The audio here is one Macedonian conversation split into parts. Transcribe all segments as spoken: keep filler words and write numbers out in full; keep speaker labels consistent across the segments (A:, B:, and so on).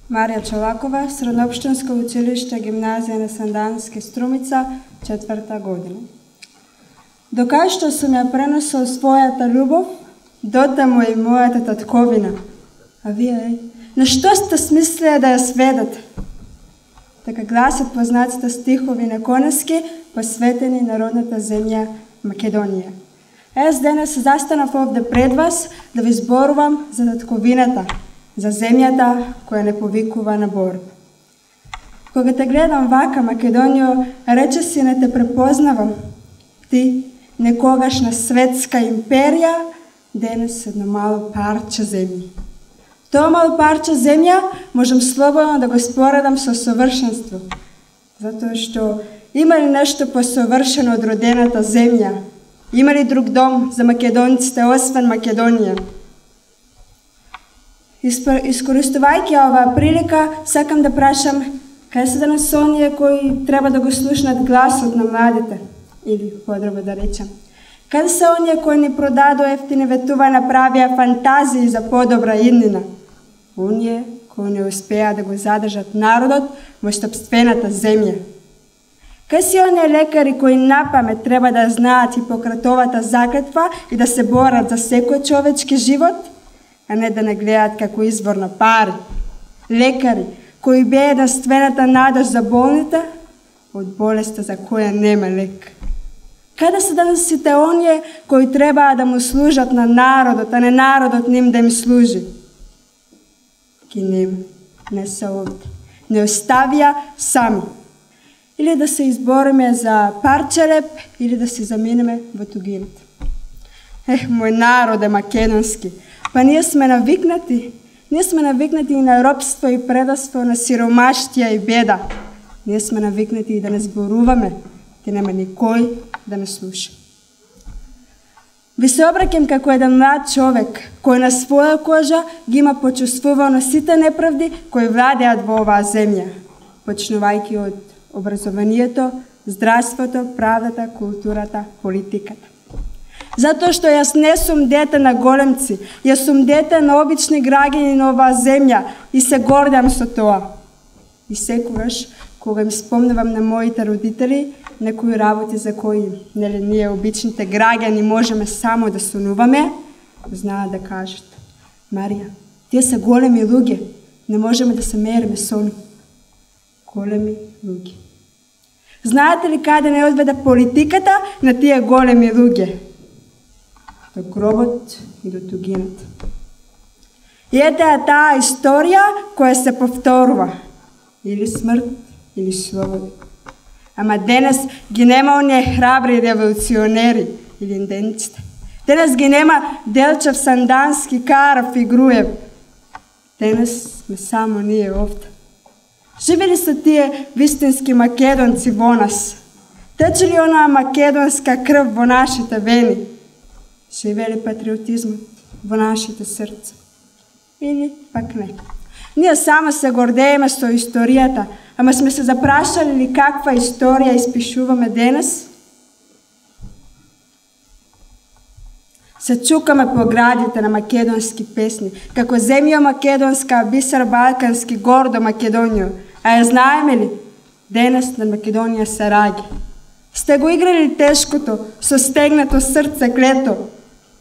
A: Марија Чолакова, Средноопштинско училиште, гимназија на Сандански, Струмица, четврта година. Докај што сум ја пренесол својата љубов, дотаму е и мојата татковина. А вие, на што сте смислеја да ја сведете? Така гласат познатите стихови на Конески, посветени на родната земја Македонија. Ес денес застанав овде пред вас да ви зборувам за татковината, за земјата која не повикува на борба. Кога те гледам вака, Македонијо, рече си не те препознавам. Ти, некогашна светска империја, денес едно мало парче земја. Тоа мало парче земја можам слободно да го споредам со совршенство, затоа што има ли нешто посовршено од родената земја? Има ли друг дом за македонците освен Македонија? Искористувајќи оваа прилика, сакам да прашам кај се денес оние кои треба да го слушнат гласот на младите, или подробно да речам, каде се оние кои ни продадо ефтини ветува, направија фантазии за подобра иднина? Оние кои не успеа да го задржат народот во собствената земја. Кај си оние лекари кои напамет треба да знаат Хипократовата заклетва и да се борат за секој човечки живот, а не да не гледаат како извор на пари? Лекари кои беа единствената надеж за болните од болеста за која нема лек. Каде се денес сите оние кои требаа да му служат на народот, а не народот ним да им служи? Ги нема, не се овде. Не оставија сами. Или да се избориме за парче леп, или да се заминеме во тугината. Ех, мој народе македонски, па ние сме навикнати. Ние сме навикнати и на робство и предавство, на сиромаштија и беда. Ние сме навикнати и да не зборуваме, ти нема никој да не слуша. Ви се обраќам како еден млад човек, кој на своја кожа ги има почувствувано сите неправди кои владеат во оваа земја, почнувајќи од образованието, здравството, правдата, културата, политиката. Затоа што јас не сум дете на големци, јас сум дете на обични граѓани на оваа земја и се гордам со тоа. И секогаш, кога им спомнувам на моите родители, некои работи за кои, нели, ние обичните граѓани можеме само да сонуваме, знаат да кажат: Марија, тие се големи луѓе, не можеме да се мериме со нив. Големи луѓе. Знаете ли каде не одведе политиката на тие големи луѓе? До гробот и до тугината. И ете е таа историја која се повторува. Или смрт, или слобода. Ама денес ги нема оние храбри револуционери или инденците. Денес ги нема Делчев, Сандански, Каров и Груев. Денес сме само ние овде. Живе ли се тие вистински македонци во нас? Тече ли онаа македонска крв во нашите вени? Живе ли патриотизмот во нашите срца? Или пак не? Ние само се гордееме со историјата, ама сме се запрашали ли каква историја испишуваме денес? Се чукаме по градите на македонски песни, како земја македонска, бисер балкански, гордо Македонијо. А ја знаеме ли? Денес на Македонија се раѓа. Сте го играли тешкото, со стегнато срце клето.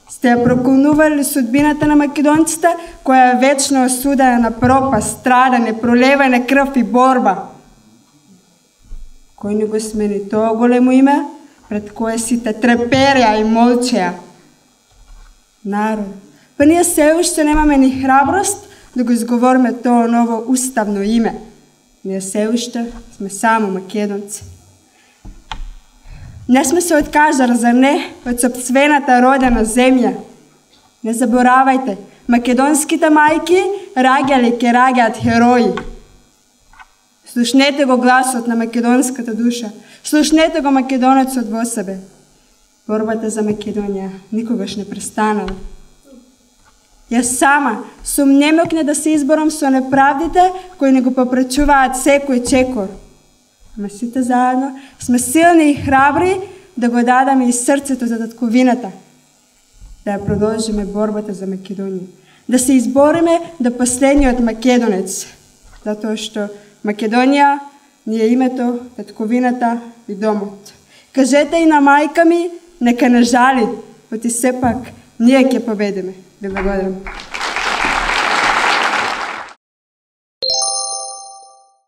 A: Сте ја проколнували судбината на македонците, која е вечно осудена на пропаст, страдане, пролевање крв и борба. Кој не го смени тоа големо име, пред кое сите трепереа и молчеа? Народ. Па ние се уште немаме ни храброст да го изговориме тоа ново уставно име. Ние се уште сме само македонци. Не сме се откажали, за не, од сопствената родена земја. Не заборавајте, македонските мајки раѓале ке раѓаат херои. Слушнете го гласот на македонската душа. Слушнете го македонецот во себе. Борбата за Македонија никогаш не престанала. Јас сама сум немокне да се изборам со неправдите кои не го попречуваат секој чекор. Ама сите заедно сме силни и храбри да го дадаме и срцето за татковината. Да ја продолжиме борбата за Македонија. Да се избориме до последниот македонец. затоа што Македонија ни е името, татковината и домот. Кажете и на мајка ми, нека не жали, оти сепак ние ќе победиме. Ви благодарам.